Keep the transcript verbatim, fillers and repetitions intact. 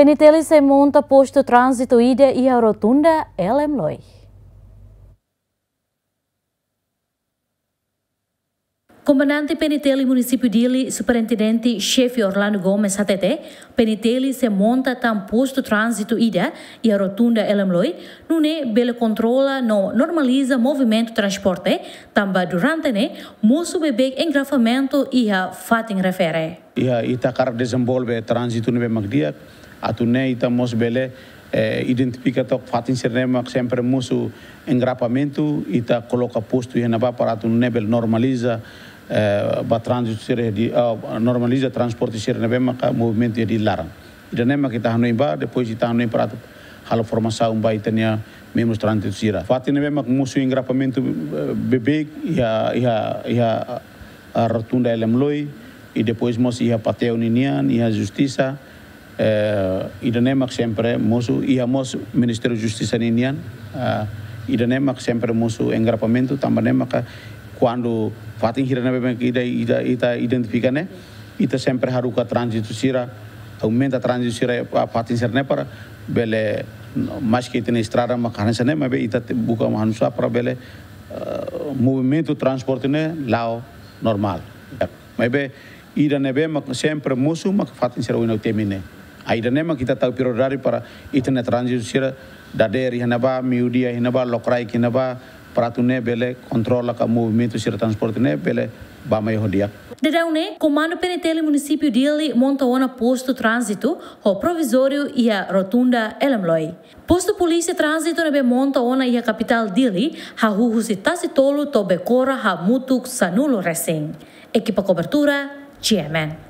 PNTL sei monta postu tránzitu ida iha rotunda L M Loi. Komandante PNTL Munisípiu Dili, Superintendente Xefe Orlando Gomes hatete, PNTL sei monta tan postu tránzitu ida iha rotunda L M Loi, nune'e bele kontrola no normaliza movimentu transporte, tanba durante ne'e mosu beibeik engarrafamentu iha fatin refere. Iha ita hakarak dezenvolve tránzitu ne'ebé mak di'ak, atu nune'e ita mós bele, eh, identifika took fatin sira ne'ebé mak sempre mosu engarrafamentu, ita koloka postu iha ne'ebá para atu nune'e bele normaliza, eh, ba tránzitu sira di, ah, normaliza transporte sira ne'ebé maka movimentu iha Dili laran. Ida-ne'e mak ita hanoin ba, depois ita hanoin para atu halo formasaun ba ita-nia membrus tránzitu sira. Fatin ne'ebé mak mosu engarrafamentu, eh, beibeik iha, iha, iha, ah, rotunda L M Loi, i depois mós iha Pateu ninian, iha Justisa, eh, ida-ne'e mak sempre mosu, iha mós Ministériu Justisa ninian, ah, ida-ne'e mak sempre mosu engarrafamentu, tanba ne'e maka kuandu fatin sira ne'ebé mak ita, ita, ita identifika ne'e, ita sempre haruka tránzitu sira, aumenta tránzitu sira, ah, fatin sira ne'e para bele, maske ita-nia estrada mak hanesan ne'e, maibé ita te-, buka hanu'usá para bele, eh, movimentu transporte ne'e la'o normál. Maibé ida ne'ebé mak sempre mosu mak fatin sira oin ha'u temi ne'e. Ah, ida-ne'e mak ita tau prioridade para ita-nia tránzitu sira dadeer iha ne'ebá, meiudia iha ne'ebá, lokraik iha ne'ebá, para atu nune'e bele kontrola ka movimentu sira transporte ne'e bele bá mai ho di'ak. Daudaun ne'e, Komandu PNTL Munisípiu Dili monta ona postu tránzitu ho provizóriu iha rotunda L M Loi. Postu polísia tránzitu ne'ebé monta ona iha kapitál Dili hahú husi Tasi Tolu to'o Becora hamutuk sanulu resin. Ekipa kobertura, G M N.